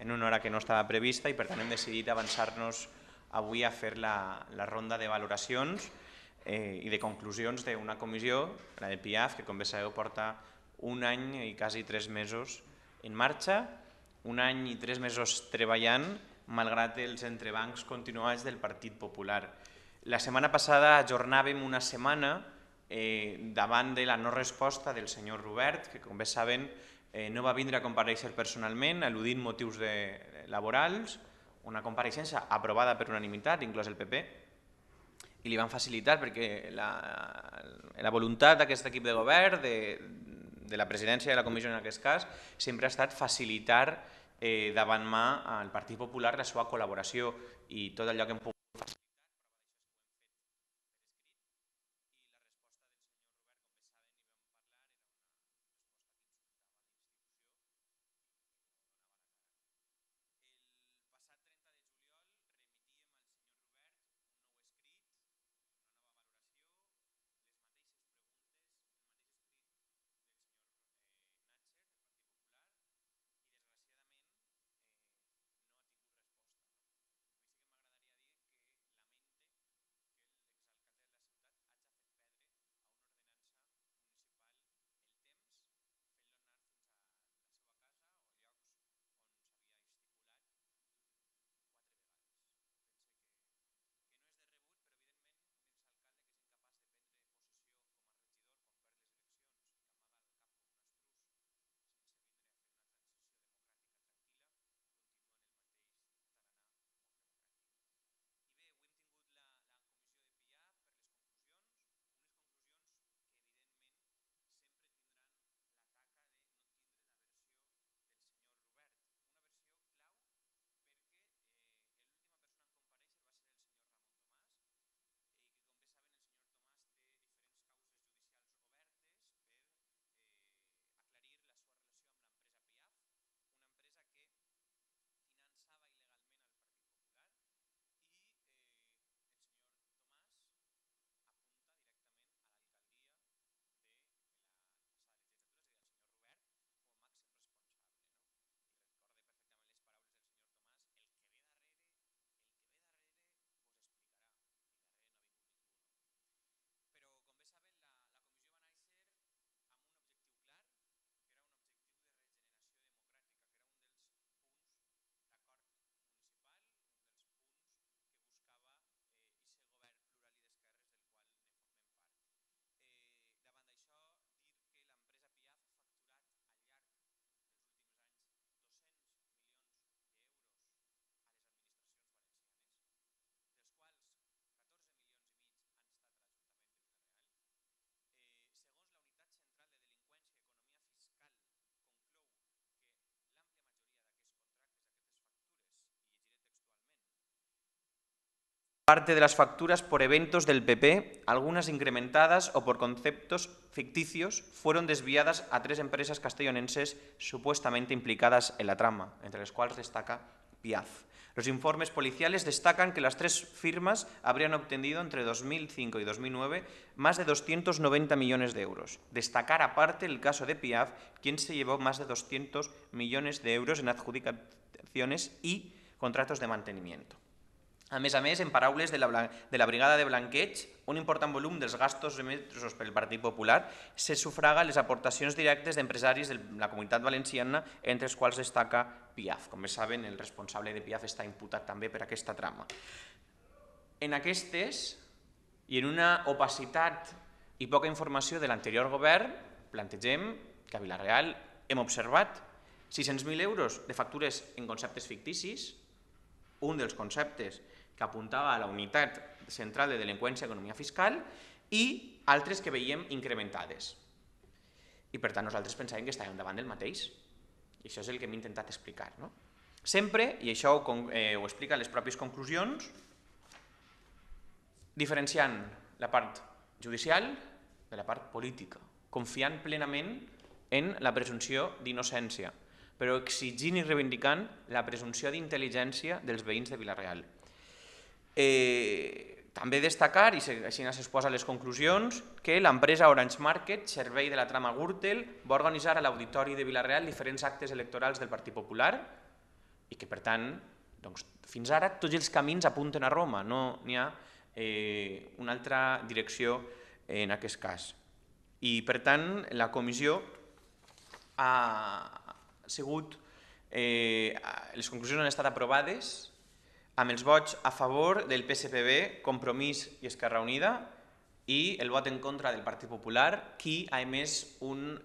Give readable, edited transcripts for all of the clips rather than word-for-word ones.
en una hora que no estava prevista i per tant hem decidit avançar-nos avui a fer la ronda de valoracions i de conclusions d'una comissió, la de PIAF, que com bé sabeu porta un any i quasi 3 mesos en marxa, un any i 3 mesos treballant malgrat els entrebancs continuats del Partit Popular. La setmana passada ajornàvem una setmana davant de la no resposta del senyor Robert, que com bé saben no va vindre a comparèixer personalment, al·ludint motius laborals, una compareixença aprovada per unanimitat, inclòs el PP, i li van facilitar perquè la voluntat d'aquest equip de govern, de la presidència de la comissió en aquest cas, sempre ha estat facilitar davant mà al Partit Popular la seva col·laboració i tot allò que hem pogut facilitar. Parte de las facturas por eventos del PP, algunas incrementadas o por conceptos ficticios, fueron desviadas a 3 empresas castellonenses supuestamente implicadas en la trama, entre las cuales destaca PIAF. Los informes policiales destacan que las 3 firmas habrían obtenido entre 2005 y 2009 más de 290 millones de euros. Destacar aparte el caso de PIAF, quien se llevó más de 200 millones de euros en adjudicaciones y contratos de mantenimiento. A més, en paraules de la Brigada de Blanqueig, un important volum dels gastos emesos pel Partit Popular se sufraga les aportacions directes d'empresaris de la Comunitat Valenciana, entre els quals destaca PIAF. Com bé saben, el responsable de PIAF està imputat també per aquesta trama. En aquestes, i en una opacitat i poca informació de l'anterior govern, plantegem que a Vila-real hem observat 600.000 euros de factures en conceptes ficticis, un dels conceptes que apuntava a la Unitat Central de Delinqüència i Economia Fiscal, i altres que veiem incrementades. I per tant nosaltres pensàvem que estàvem davant del mateix. I això és el que hem intentat explicar. Sempre, i això ho explica les pròpies conclusions, diferenciant la part judicial de la part política, confiant plenament en la presumpció d'innocència, però exigint i reivindicant la presumpció d'intel·ligència dels veïns de Vila-real. També destacar, i així s'exposa a les conclusions, que l'empresa Orange Market, servei de la trama Gürtel, va organitzar a l'Auditori de Vila-real diferents actes electorals del Partit Popular i que, per tant, fins ara tots els camins apunten a Roma, no n'hi ha una altra direcció en aquest cas. I, per tant, la comissió ha sigut, les conclusions han estat aprovades amb els vots a favor del PSPB, Compromís i Esquerra Unida, i el vot en contra del Partit Popular, qui ha emès un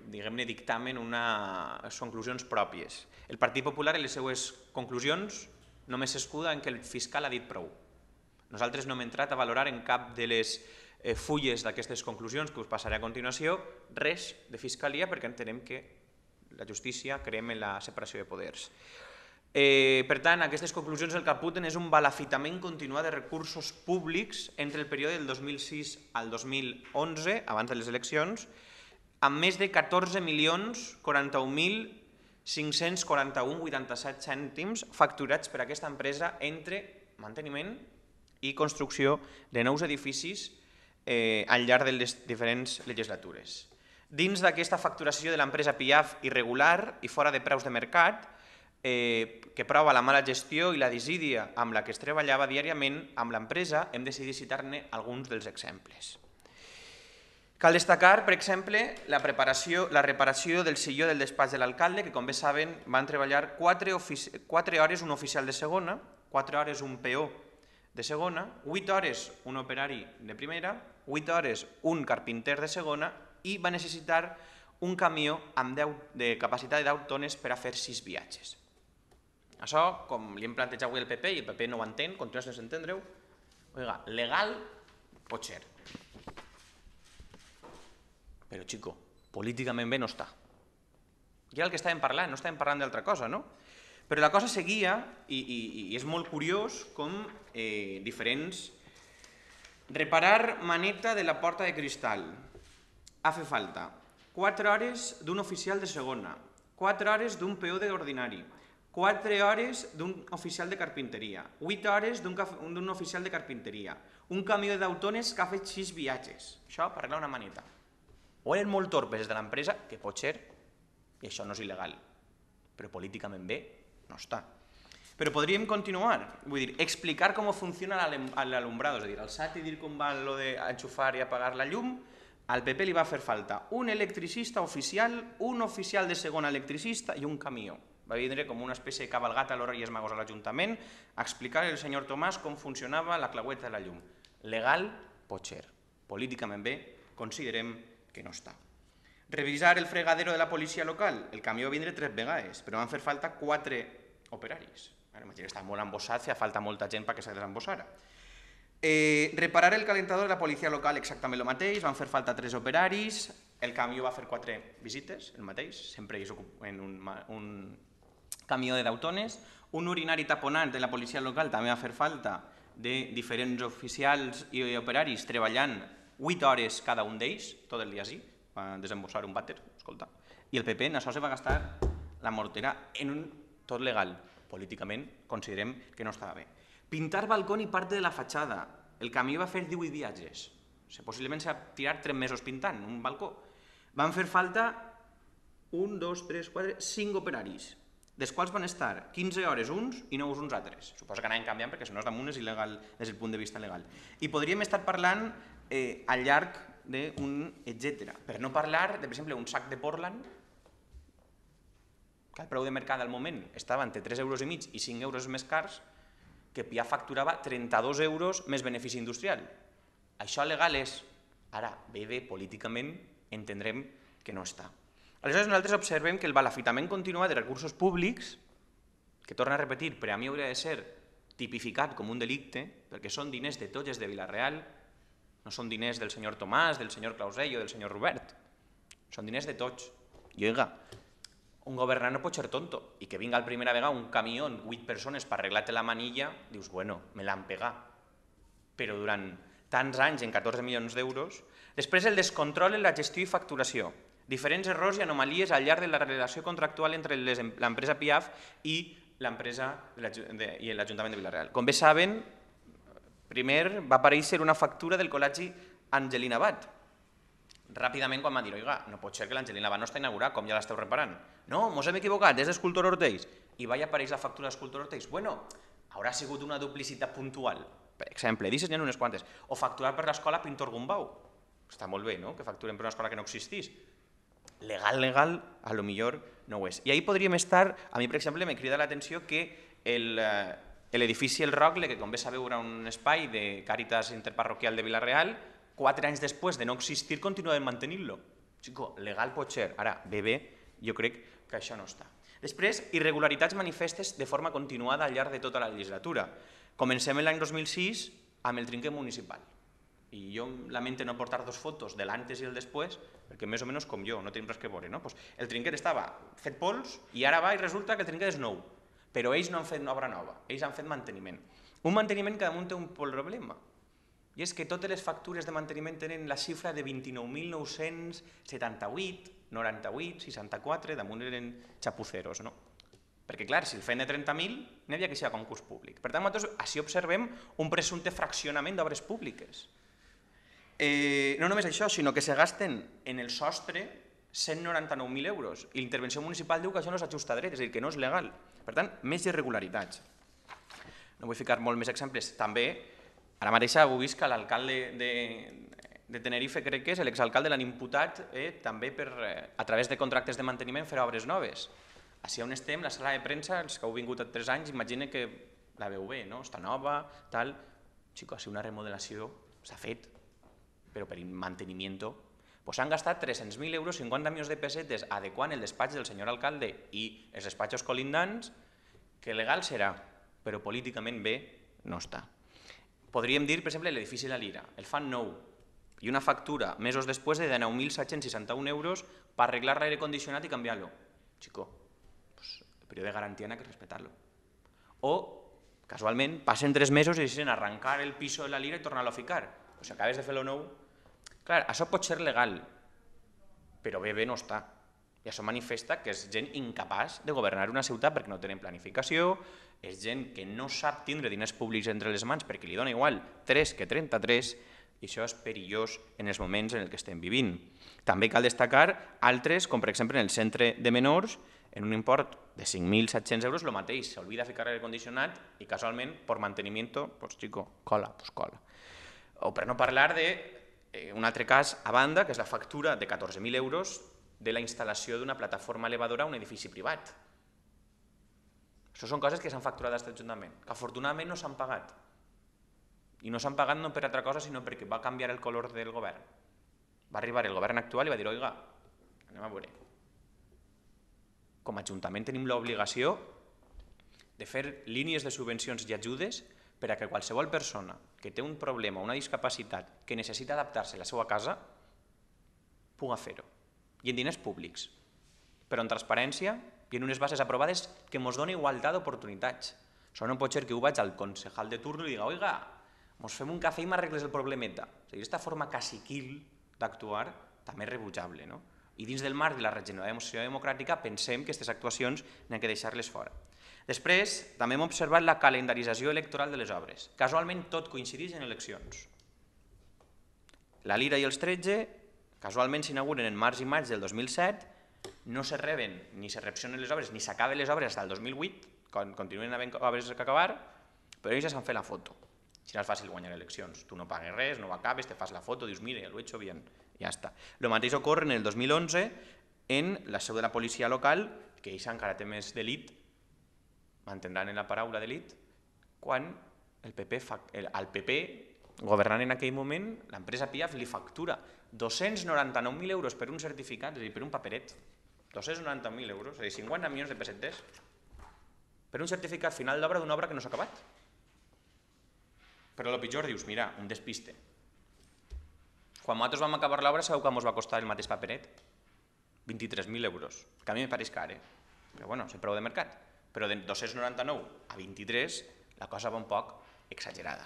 diguem-ne, dictamen, unes conclusions pròpies. El Partit Popular, en les seues conclusions, només s'escuda en que el fiscal ha dit prou. Nosaltres no hem entrat a valorar en cap de les fulles d'aquestes conclusions que us passaré a continuació res de fiscalia, perquè entenem que la justícia creiem en la separació de poders. Per tant, aquestes conclusions el que apunten és un balafitament continuat de recursos públics entre el període del 2006 al 2011, abans de les eleccions, amb més de 14.041.541,87 cèntims facturats per aquesta empresa entre manteniment i construcció de nous edificis al llarg de les diferents legislatures. Dins d'aquesta facturació de l'empresa Piaf irregular i fora de preus de mercat, que prova la mala gestió i la desídia amb la que es treballava diàriament amb l'empresa, hem decidit citar-ne alguns dels exemples. Cal destacar, per exemple, la reparació del silló del despatx de l'alcalde, que, com bé saben, van treballar 4 hores un oficial de segona, 4 hores un peó de segona, 8 hores un operari de primera, 8 hores un carpinter de segona i va necessitar un camió amb de capacitat de 10 tones per a fer 6 viatges. Això, com li hem plantejat avui al PP, i el PP no ho entén, continua sense entendre-ho, legal pot ser. Però, xico, políticament bé no està. I era el que estàvem parlant, no estàvem parlant d'altra cosa, no? Però la cosa seguia, i és molt curiós com diferents... Reparar maneta de la porta de cristal. Ha fet falta 4 hores d'un oficial de segona, 4 hores d'un peó d'ordinari, 4 hores d'un oficial de carpinteria, 8 hores d'un oficial de carpinteria, un camió de 10 tones que ha fet 6 viatges. Això per arreglar una maneta. O eren molt torpes des de l'empresa, que pot ser, i això no és il·legal, però políticament bé no està. Però podríem continuar, vull dir, explicar com funciona l'alumbrado, és a dir, el SAT i dir com va lo d'enxufar i apagar la llum. Al PP li va fer falta un electricista oficial, un oficial de segona electricista i un camió. Va vindre com una espècie de cabalgata a los Reyes Magos a l'Ajuntament a explicar al senyor Tomàs com funcionava la claueta de la llum. Legal pot ser, políticament bé considerem que no està. Revisar el fregadero de la policia local, el camió va vindre 3 vegades, però van fer falta 4 operaris. Imagina que està molt embossat, feia falta molta gent perquè se desembossara. Reparar el calentador de la policia local, exactament el mateix, van fer falta 3 operaris, el camió va fer 4 visites, el mateix, sempre és en un camió de 10 tones, un urinari taponat de la policia local també va fer falta de diferents oficials i operaris treballant 8 hores cada un d'ells, tot el dia així, va desembossar un vàter, escolta, i el PP en això se va gastar la mortera en un tot legal. Políticament considerem que no estava bé. Pintar balcó i part de la fatxada. El camió va fer 18 viatges. Possiblement s'ha tirat 3 mesos pintant un balcó. Van fer falta 1, 2, 3, 4, 5 operaris, dels quals van estar 15 hores uns i 9 uns altres. Suposo que anaven canviant perquè si no és damunt és il·legal des del punt de vista legal. I podríem estar parlant al llarg d'un etcètera. Per no parlar de, per exemple, un sac de Portland, que el preu de mercat al moment estava entre 3,5 € i 5 € més cars, que Piaf facturava 32 € més benefici industrial. Això legal és. Ara, bé, políticament entendrem que no està. Aleshores, nosaltres observem que el balafitament continuat de recursos públics, que torna a repetir, per a mi hauria de ser tipificat com un delicte, perquè són diners de tots els de Vila-real, no són diners del senyor Tomàs, del senyor Clausell o del senyor Robert, són diners de tots. I oiga, un governant no pot ser tonto, i que vinga la primera vegada un camió amb 8 persones per arreglar-te la manilla, dius, bueno, me l'han pegat. Però durant tants anys, en 14 milions d'euros, després el descontrol en la gestió i facturació, diferents errors i anomalies al llarg de la relació contractual entre l'empresa Piaf i l'Ajuntament de Vila-real. Com bé saben, primer va aparèixer una factura del col·legi Angelina Abad, ràpidament quan van dir, oiga, no pot ser que l'Angelina Lavà no està inaugurat, com ja l'esteu reparant. No, mos hem equivocat, és d'Escultor Ortells. I va apareix la factura d'Escultor Ortells. Bueno, haurà sigut una duplicitat puntual. Per exemple, d'aixes n'hi ha unes quantes. O facturar per l'escola Pintor Gumbau. Està molt bé, no?, que facturem per una escola que no existís. Legal, a lo millor no ho és. I ahí podríem estar, a mi, per exemple, me crida l'atenció que l'edifici El Rocle, que com bé sabeu era un espai de Càritas Interparroquial de Vila-real, 4 anys després de no existir continuem mantenint-lo. Chico, legal pot ser. Ara, bé, jo crec que això no està. Després, irregularitats manifestes de forma continuada al llarg de tota la legislatura. Comencem l'any 2006 amb el trinquet municipal. I jo lamento no portar 2 fotos de l'antes i el després, perquè més o menys com jo, no tenim res que veure. El trinquet estava fet pols i ara va i resulta que el trinquet és nou. Però ells no han fet obra nova, ells han fet manteniment. Un manteniment que damunt té un problema. I és que totes les factures de manteniment tenen la xifra de 29.978, 98, 64, damunt eren xapuceros, no? Perquè, clar, si el feien de 30.000, n'hi havia que ser a concurs públic. Per tant, nosaltres així observem un presumpte fraccionament d'obres públiques. No només això, sinó que se gasten en el sostre 199.000 euros i l'intervenció municipal diu que això no s'ajusta dret, és a dir, que no és legal. Per tant, més irregularitats. No vull ficar molt més exemples. També, ara mateix heu vist que l'alcalde de Tenerife, crec que és, l'exalcalde l'han imputat també a través de contractes de manteniment fer obres noves. Així on estem, la sala de premsa, els que heu vingut a 3 anys, imagina que la veu bé, no? Està nova, tal. Xico, si una remodelació s'ha fet, però per manteniment, s'han gastat 300.000 euros, 50 milions de pessetes, adequant el despatx del senyor alcalde i els despatxos colindants, que legal serà, però políticament bé no està. Podríem dir, per exemple, l'edifici La Lira, el fan nou, i una factura mesos després de 9.761 euros per arreglar l'aire condicionat i canviar-lo. Xico, el període de garantia n'ha que respectar-lo. O, casualment, passen 3 mesos i deciden arrencar el piso de La Lira i tornar-lo a ficar. Si acabes de fer-lo nou... Clar, això pot ser legal, però bé no està. I això manifesta que és gent incapaç de governar una ciutat perquè no tenen planificació, és gent que no sap tindre diners públics entre les mans perquè li dona igual 3 que 33, i això és perillós en els moments en què estem vivint. També cal destacar altres, com per exemple en el centre de menors, en un import de 5.700 euros, el mateix, s'olvida ficar l'aire condicionat i casualment, per manteniment, pues chico, cola. O per no parlar d'un altre cas a banda, que és la factura de 14.000 euros de la instal·lació d'una plataforma elevadora a un edifici privat. Això són coses que s'han facturat a aquest Ajuntament, que afortunadament no s'han pagat. I no s'han pagat no per altra cosa, sinó perquè va canviar el color del govern. Va arribar el govern actual i va dir, oiga, anem a veure. Com a Ajuntament tenim l'obligació de fer línies de subvencions i ajudes per a que qualsevol persona que té un problema o una discapacitat que necessita adaptar-se a la seva casa pugui fer-ho. I en diners públics, però en transparència i en unes bases aprovades que ens donen igualtat d'oportunitats. Això no pot ser que ho vaig al concejal de turno i diga, oiga, ens fem un cafè i m'arregles el problemeta. Aquesta forma caciquil d'actuar també és rebutjable. I dins del marc de la regeneració democràtica pensem que aquestes actuacions n'hem de deixar-les fora. Després, també hem observat la calendarització electoral de les obres. Casualment tot coincideix en eleccions. La Lira i els 13, casualment s'inauguren en març i maig del 2007, no se reben ni se reaccionen les obres ni s'acaben les obres fins al 2008, quan continuen havent obres que acabar, però ells ja s'han fet la foto. Si no és fàcil guanyar eleccions, tu no pagues res, no ho acabes, te fas la foto, dius, mire, lo he hecho bien, ja està. El mateix ocorre en el 2011 en la seu de la policia local, que ells encara té més d'elit, mantindran en la paraula d'elit, quan el PP, governant en aquell moment, l'empresa Piaf li factura 299.000 euros per un certificat, és a dir, per un paperet, 290.000 euros, és a dir, 50 milions de pessetes, per un certificat final d'obra d'una obra que no s'ha acabat. Però el pitjor dius, mira, un despiste. Quan nosaltres vam acabar l'obra, sabeu que ens va costar el mateix paperet? 23.000 euros, que a mi me pareix car, però bueno, és el preu de mercat. Però de 299 a 23 la cosa va un poc exagerada.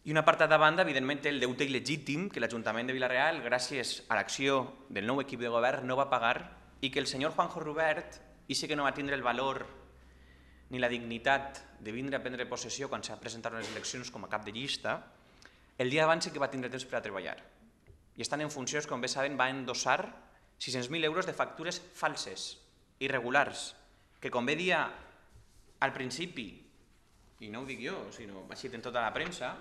I una part de banda, evidentment, té el deute il·legítim que l'Ajuntament de Vila-real, gràcies a l'acció del nou equip de govern, no va pagar i que el senyor Juanjo Rubert, i sí que no va tindre el valor ni la dignitat de vindre a prendre possessió quan s'ha presentat les eleccions com a cap de llista, el dia abans sí que va tindre temps per a treballar. i estan en funcions, com bé saben, va endossar 600.000 euros de factures falses, irregulars, que com bé dia al principi, i no ho dic jo, sinó així en tota la premsa,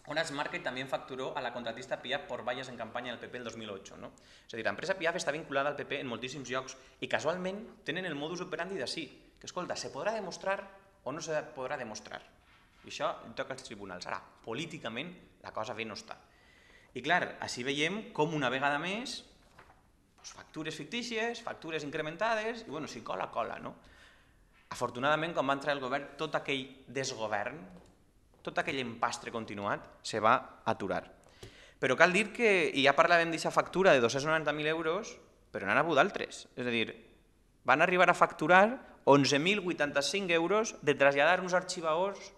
Onas Market también facturó a la contratista Piaf por vallas en campaña del PP el 2008. No? És a dir, l'empresa Piaf està vinculada al PP en moltíssims llocs i casualment tenen el modus operandi d'ací, que escolta, se podrà demostrar o no se podrà demostrar. I això toca als tribunals. Ara, políticament la cosa bé no està. I clar, així veiem com una vegada més factures fictícies, factures incrementades, i bueno, si cola, cola, no? Afortunadament, quan va entrar el govern, tot aquell desgovern, tot aquell empastre continuat, se va aturar. Però cal dir que, i ja parlàvem d'aquesta factura de 290.000 euros, però n'han hagut d'altres. És a dir, van arribar a facturar 11.085 euros de traslladar uns arxivaors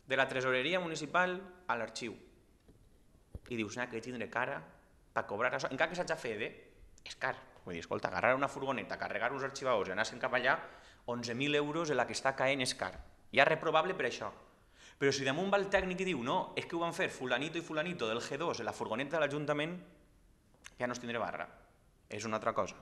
de la tresoreria municipal a l'arxiu. I dius, que tindré cara per cobrar això. Encara que s'hagi fet, és car. Vull dir, escolta, agarrar una furgoneta, carregar uns arxivaors i anar-se'n cap allà, 11.000 euros en la que està caent és car. Ja reprovable per això. Però si damunt va el tècnic i diu, no, és que ho van fer fulanito i fulanito del G2 en la furgoneta de l'Ajuntament, ja no es tindré barra. És una altra cosa.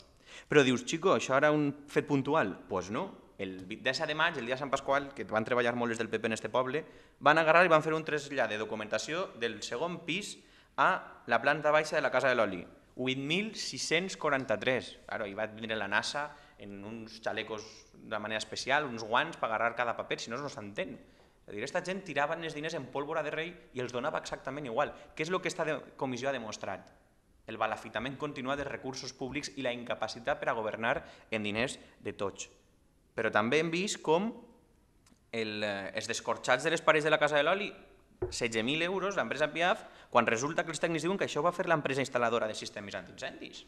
Però dius, xico, això era un fet puntual? Doncs no. El 10 de maig, el dia de Sant Pasqual, que van treballar molt des del PP en este poble, van agarrar i van fer un trasllat de documentació del segon pis a la planta baixa de la Casa de l'Oli. 8.643. Claro, hi va venir la NASA en uns xalecos de manera especial, uns guants per agarrar cada paper, si no, no s'entén. És a dir, aquesta gent tirava els diners en pólvora de rei i els donava exactament igual. Què és el que aquesta comissió ha demostrat? El balafitament continuat dels recursos públics i la incapacitat per a governar en diners de tots. Però també hem vist com els descorxats de les parets de la Casa de l'Oli, 16.000 euros, l'empresa Piaf, quan resulta que els tècnics diuen que això ho va fer l'empresa instal·ladora de sistemes antiincendis.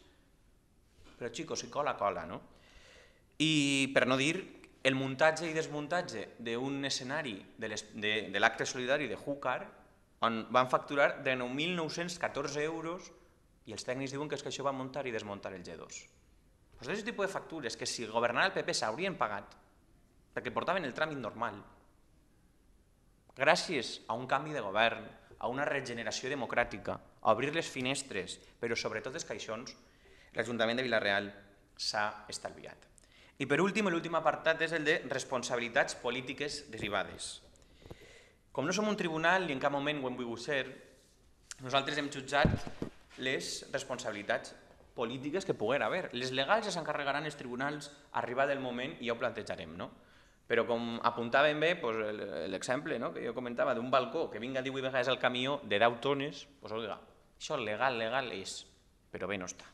Però, xicos, si cola, cola, no? I per no dir el muntatge i desmuntatge d'un escenari de l'acte solidari de Júcar, on van facturar de 9.914 euros i els tècnics diuen que és que això va muntar i desmuntar el G2. Doncs d'aquest tipus de factures que si governara el PP s'haurien pagat perquè portaven el tràmit normal, gràcies a un canvi de govern, a una regeneració democràtica, a obrir les finestres, però sobretot els caixons, l'Ajuntament de Vila-real s'ha estalviat. I per últim, l'últim apartat és el de responsabilitats polítiques derivades. Com no som un tribunal i en cap moment ho hem volgut ser, nosaltres hem jutjat les responsabilitats polítiques que poguera haver. Les legals ja s'encarregaran els tribunals arribat el moment i ja ho plantejarem, no? Però com apuntàvem bé, l'exemple que jo comentava d'un balcó que vinga 18 vegades al camió de 10 tones, doncs oiga, això legal és, però bé no està.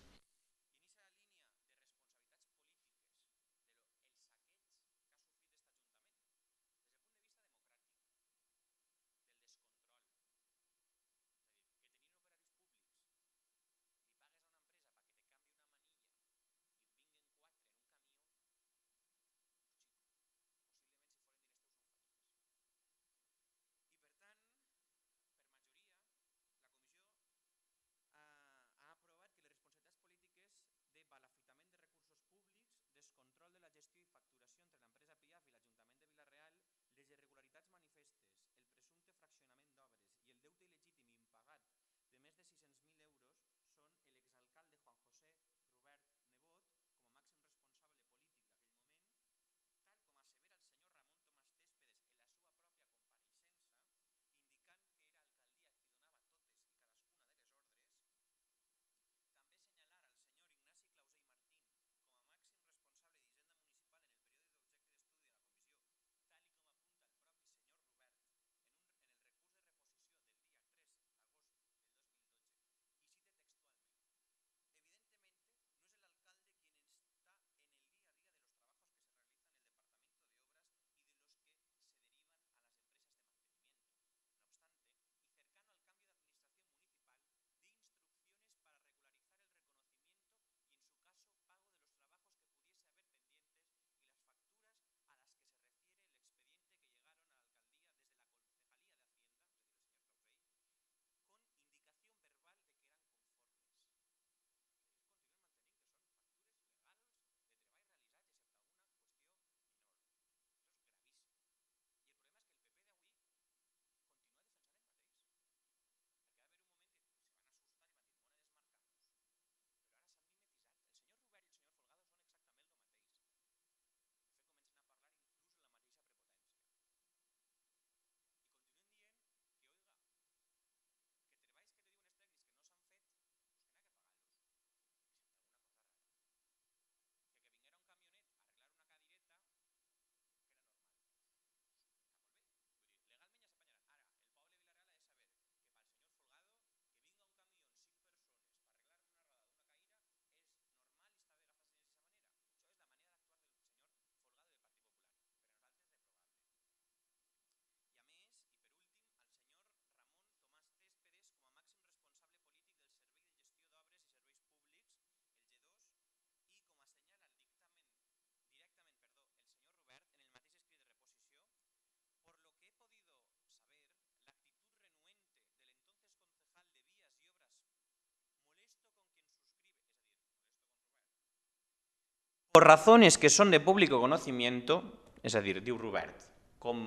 por razones que son de público conocimiento, és a dir, diu Robert, com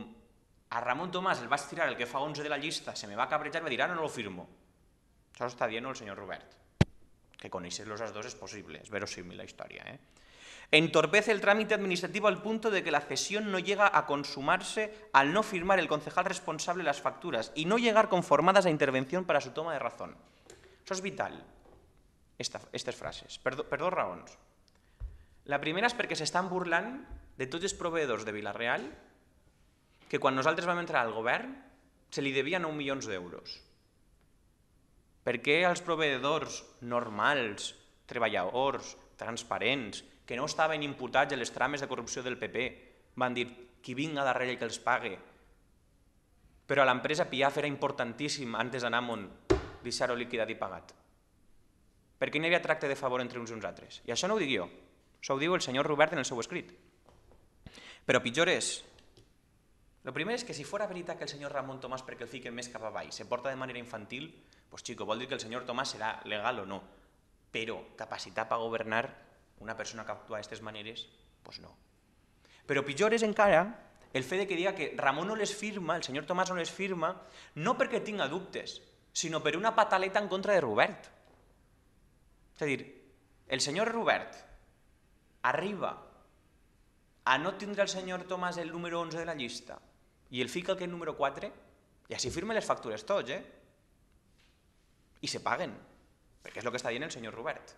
a Ramon Tomàs el vaig tirar el que fa 11 de la llista, se me va cabrejar i va dir, ara no lo firmo. Això està dient el senyor Robert. Que conèixer-los els dos és possible, és verosímil la història. Entorpece el trámite administrativo al punto de que la cesión no llega a consumarse al no firmar el concejal responsable las facturas y no llegar conformadas a intervención para su toma de razón. Això és vital, aquestes frases, per dos raons. La primera és perquè s'estan burlant de tots els proveïdors de Vila-real que quan nosaltres vam entrar al govern se li devia 9 milions d'euros. Per què als proveïdors normals, treballadors, transparents, que no estaven imputats a les trames de corrupció del PP, van dir qui vinga darrere i que els pague? Però a l'empresa Piaf era importantíssim, antes d'anar amunt, deixar-ho liquidat i pagat. Per què no hi havia tracte de favor entre uns i uns altres? I això no ho dic jo, això ho diu el senyor Robert en el seu escrit. Però pitjor és, el primer és que si fora veritat que el senyor Ramon Tomàs, perquè el fiquen més cap avall, se porta de manera infantil, doncs xico, vol dir que el senyor Tomàs serà legal o no, però capacitat per governar una persona que actua d'aquestes maneres, doncs no. Però pitjor és encara el fet que diga que Ramon no les firma, el senyor Tomàs no les firma, no perquè tinga dubtes, sinó per una pataleta en contra de Robert. És a dir, el senyor Robert arriba a no tindre el senyor Tomàs el número 11 de la llista i el fica el número 4 i així firma les factures tots, i se paguen, perquè és el que està dient el senyor Robert.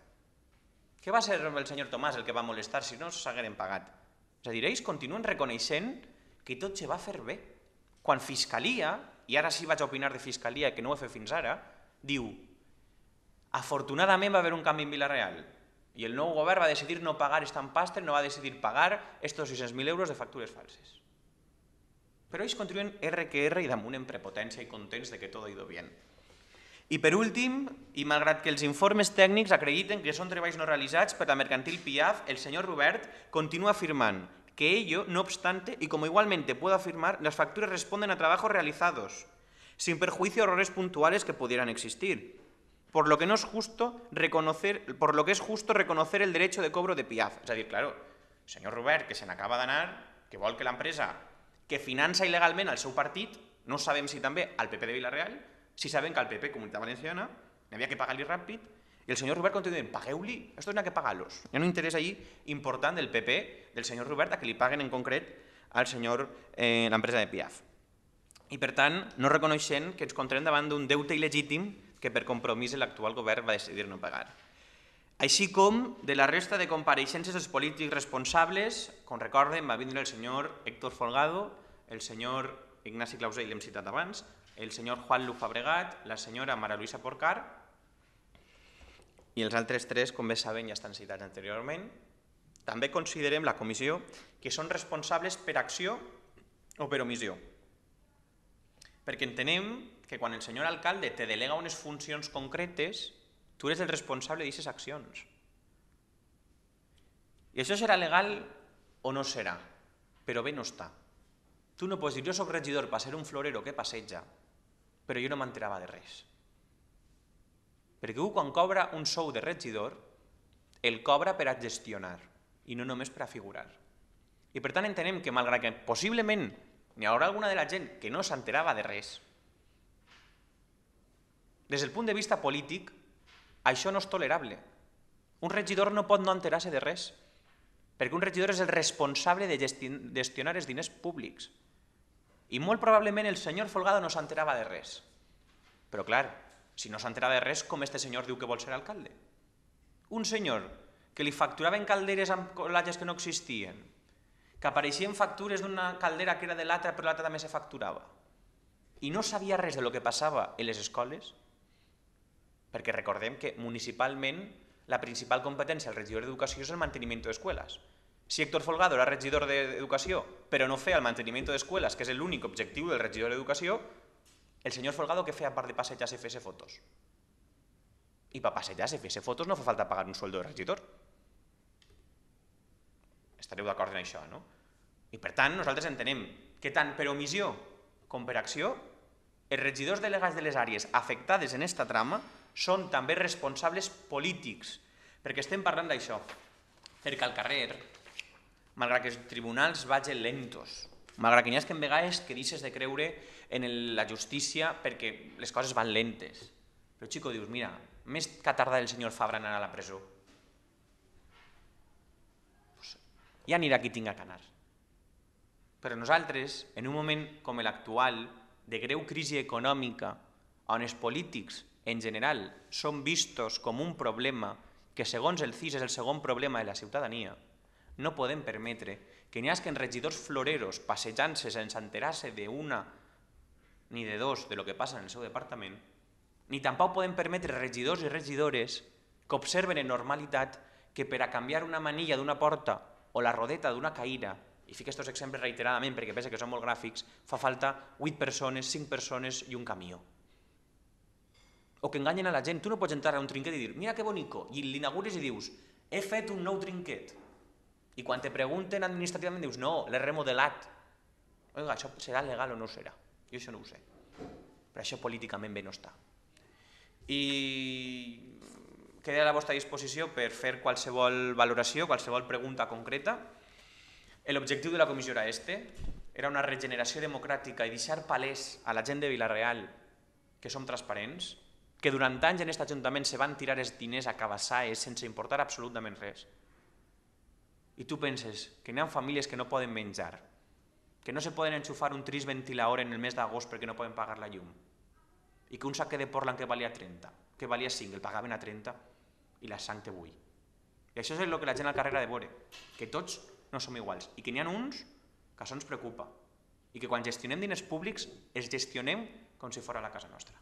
Què va ser el senyor Tomàs el que va molestar si no s'hagueren pagat? És a dir, ells continuen reconeixent que tot se va fer bé. Quan Fiscalia, i ara sí vaig a opinar de Fiscalia, que no ho he fet fins ara, diu, afortunadament va haver un canvi en Vila-real i el nou govern va decidir no pagar Estampastre, no va decidir pagar estos 600.000 euros de factures falses. Però ells continuen R que R i damunt en prepotència i contents de que tot ha ido bien. I per últim, i malgrat que els informes tècnics acrediten que són treballs no realitzats per la mercantil Piaf, el senyor Robert continua afirmant que ello, no obstante, y como igualmente puedo afirmar, las facturas responden a trabajos realizados, sin perjuicio de errores puntuales que pudieran existir, por lo que es justo reconocer el derecho de cobro de Piaf. És a dir, claro, el senyor Robert, que se n'acaba d'anar, que vol que l'empresa que finança il·legalment el seu partit, no sabem si també al PP de Vila-real, si sabem que al PP, Comunitat Valenciana, n'havia que pagar-li ràpid, i el senyor Robert continua dient, pagueu-li, esto n'ha que pagar-los. Hi ha un interès allí important del PP, del senyor Robert, a que li paguen en concret al senyor, l'empresa de Piaf. I per tant, no reconeixent que ens encontrem davant d'un deute il·legítim que per compromís l'actual govern va decidir no pagar. Així com de la resta de compareixences dels polítics responsables, com recorden, va vindre el senyor Héctor Folgado, el senyor Ignasi Clausell, l'hem citat abans, el senyor Juan Lu Fabregat, la senyora Mara Luisa Porcar, i els altres tres, com bé saben, ja estan citats anteriorment. També considerem la comissió que són responsables per acció o per omissió. Perquè entenem que quan el senyor alcalde te delega unes funcions concretes, tu eres el responsable d'aquestes accions. I això serà legal o no serà, però bé no està. Tu no pots dir, jo soc regidor per ser un florero que passeja, però jo no m'enterava de res. Perquè quan cobra un sou de regidor, el cobra per a gestionar i no només per a figurar. I per tant entenem que malgrat que possiblement n'hi haurà alguna de la gent que no s'enterava de res, des del punt de vista polític, això no és tolerable. Un regidor no pot no enterar-se de res, perquè un regidor és el responsable de gestionar els diners públics. I molt probablement el senyor Folgado no s'enterava de res. Però clar, si no s'enterava de res, com este senyor diu que vol ser alcalde? Un senyor que li facturaven calderes amb colatges que no existien, que apareixien factures d'una caldera que era de l'altra però l'altra també se facturava, i no sabia res de lo que passava a les escoles, perquè recordem que municipalment la principal competència del regidor d'Educació és el manteniment d'escoles. Si Héctor Folgado era regidor d'Educació però no feia el manteniment d'escoles, que és l'únic objectiu del regidor d'Educació, el senyor Folgado què feia a part de passejar-se i fer-se fotos? I per passejar-se i fer-se fotos no fa falta pagar un sueldo de regidor. Estareu d'acord en això, no? I per tant nosaltres entenem que tant per omissió com per acció els regidors delegats de les àrees afectades en aquesta trama són també responsables polítics, perquè estem parlant d'això. Perquè al carrer, malgrat que els tribunals vagin lentos, malgrat que n'hi ha que en vegades que deixes de creure en la justícia perquè les coses van lentes. Però, xico, dius, mira, més que ha tardat el senyor Fabra en anar a la presó. Pues, ja anirà qui tinga que anar. Però nosaltres, en un moment com l'actual, de greu crisi econòmica, on els polítics, en general, són vistos com un problema que, segons el CIS, és el segon problema de la ciutadania, no podem permetre que n'hi hagi regidors floreros passejant-se sense enterar-se d'una ni de dos de lo que passa en el seu departament, ni tampoc podem permetre regidors i regidores que observen en normalitat que per a canviar una manilla d'una porta o la rodeta d'una caïra, i fico aquests exemples reiteradament perquè penso que són molt gràfics, fa falta 8 persones, 5 persones i un camió. O que enganyen a la gent. Tu no pots entrar a un trinquet i dir, mira que bonico, i l'inaugures i dius, he fet un nou trinquet. I quan te pregunten administrativament dius, no, l'he remodelat. Oiga, això serà legal o no serà? Jo això no ho sé. Però això políticament bé no està. I queda a la vostra disposició per fer qualsevol valoració, qualsevol pregunta concreta. L'objectiu de la comissió era era una regeneració democràtica i deixar palès a la gent de Vila-real que som transparents, que durant anys en aquest ajuntament se van tirar els diners a cabassaes sense importar absolutament res. I tu penses que n'hi ha famílies que no poden menjar, que no se poden enxufar un tris ventilador en el mes d'agost perquè no poden pagar la llum, i que un sac de Portland que valia 30, que valia 5, el pagaven a 30 i la sang té 8. I això és el que la gent al carrer ha de veure, que tots no som iguals i que n'hi ha uns que això ens preocupa i que quan gestionem diners públics els gestionem com si fos la casa nostra.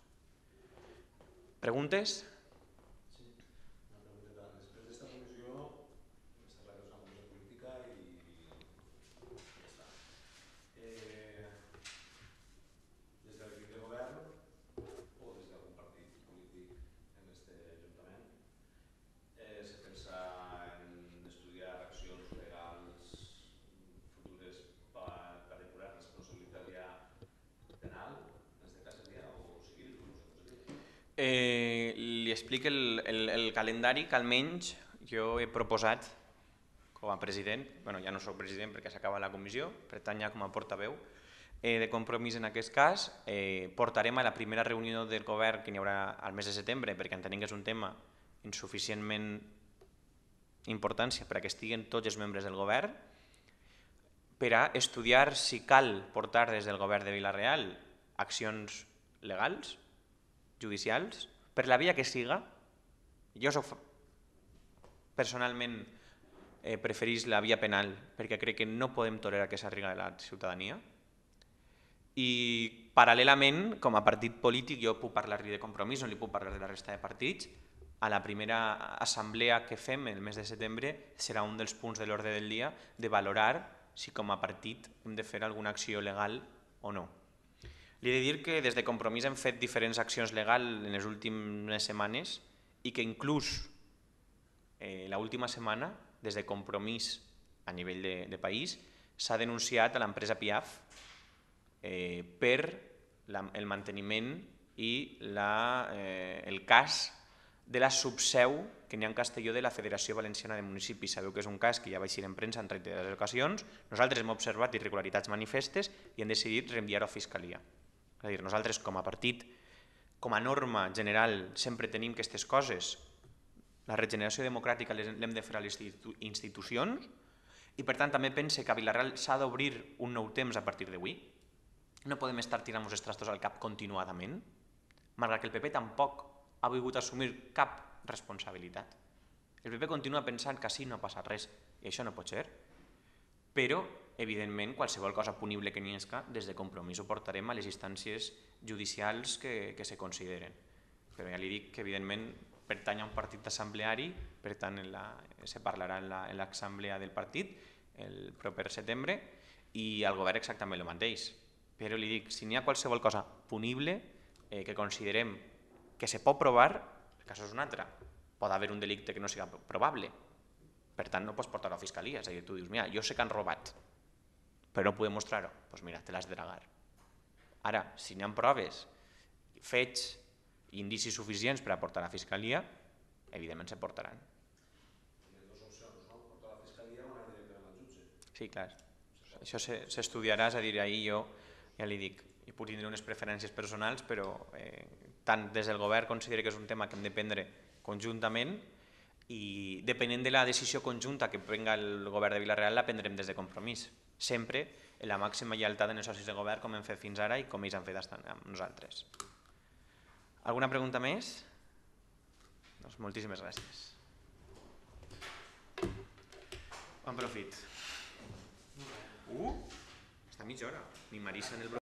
Preguntes? Sí, una pregunteta. Després d'esta comissió, està clar que és una comissió política i ja està. Des de l'equip de govern o des d'algun partit polític en aquest ajuntament, se pensa en estudiar accions legals futures per depurar responsabilitat ja penal, en aquest cas seria, o civil, com vosaltres dieu? Li explico el calendari que almenys jo he proposat com a president, ja no soc president perquè s'acaba la comissió, per tant ja com a portaveu de Compromís en aquest cas, portarem a la primera reunió del govern que n'hi haurà al mes de setembre, perquè entenem que és un tema insuficientment importància per a que estiguen tots els membres del govern, per a estudiar si cal portar des del govern de Vila-real accions legals, judicials, per la via que siga. Jo personalment preferís la via penal perquè crec que no podem tolerar que s'arribi a la ciutadania. I paral·lelament, com a partit polític, jo puc parlar-li de Compromís, no li puc parlar de la resta de partits. A la primera assemblea que fem el mes de setembre serà un dels punts de l'ordre del dia de valorar si com a partit hem de fer alguna acció legal o no. Li he de dir que des de Compromís hem fet diferents accions legals en les últimes setmanes i que inclús l'última setmana, des de Compromís a nivell de país, s'ha denunciat a l'empresa Piaf per el manteniment i el cas de la subseu que n'hi ha en Castelló de la Federació Valenciana de Municipis. Sabeu que és un cas que ja va eixir en premsa en reiterades ocasions. Nosaltres hem observat irregularitats manifestes i hem decidit reenviar-ho a Fiscalia. És a dir, nosaltres com a partit, com a norma general, sempre tenim aquestes coses. La regeneració democràtica l'hem de fer a les institucions i per tant també pense que a Vila-real s'ha d'obrir un nou temps a partir d'avui. No podem estar tirant-nos els trastos al cap continuadament, malgrat que el PP tampoc ha volgut assumir cap responsabilitat. El PP continua pensant que així no ha passat res i això no pot ser, però evidentment qualsevol cosa punible que n'hi hagi des de Compromís ho portarem a les instàncies judicials que se consideren. Però ja li dic que evidentment pertany a un partit assembleari, per tant se parlarà en l'assemblea del partit el proper setembre i al govern exactament el mateix. Però li dic, si n'hi ha qualsevol cosa punible que considerem que se pot provar, el cas és un altre. Pot haver un delicte que no sigui probable. Per tant, no pots portar-ho a la fiscalia. És a dir, tu dius, mira, jo sé que han robat, però no podem mostrar-ho. Doncs mira, te l'has de dragar. Ara, si n'hi ha proves, fets i indicis suficients per a portar a la fiscalia, evidentment se portaran. Hi ha dues opcions, no? Portar a la Sí, clar. Això s'estudiarà, és a dir, ahir jo ja li dic, hi puc tindre unes preferències personals, però tant des del govern considero que és un tema que hem de prendre conjuntament i depenent de la decisió conjunta que prenga el govern de Vila-real la prendrem des de Compromís, sempre en la màxima lleialtat en els socis de govern com hem fet fins ara i com ells han fet amb nosaltres. Alguna pregunta més? Doncs moltíssimes gràcies. Bon profit. Està mitja hora. Ni Marisa en el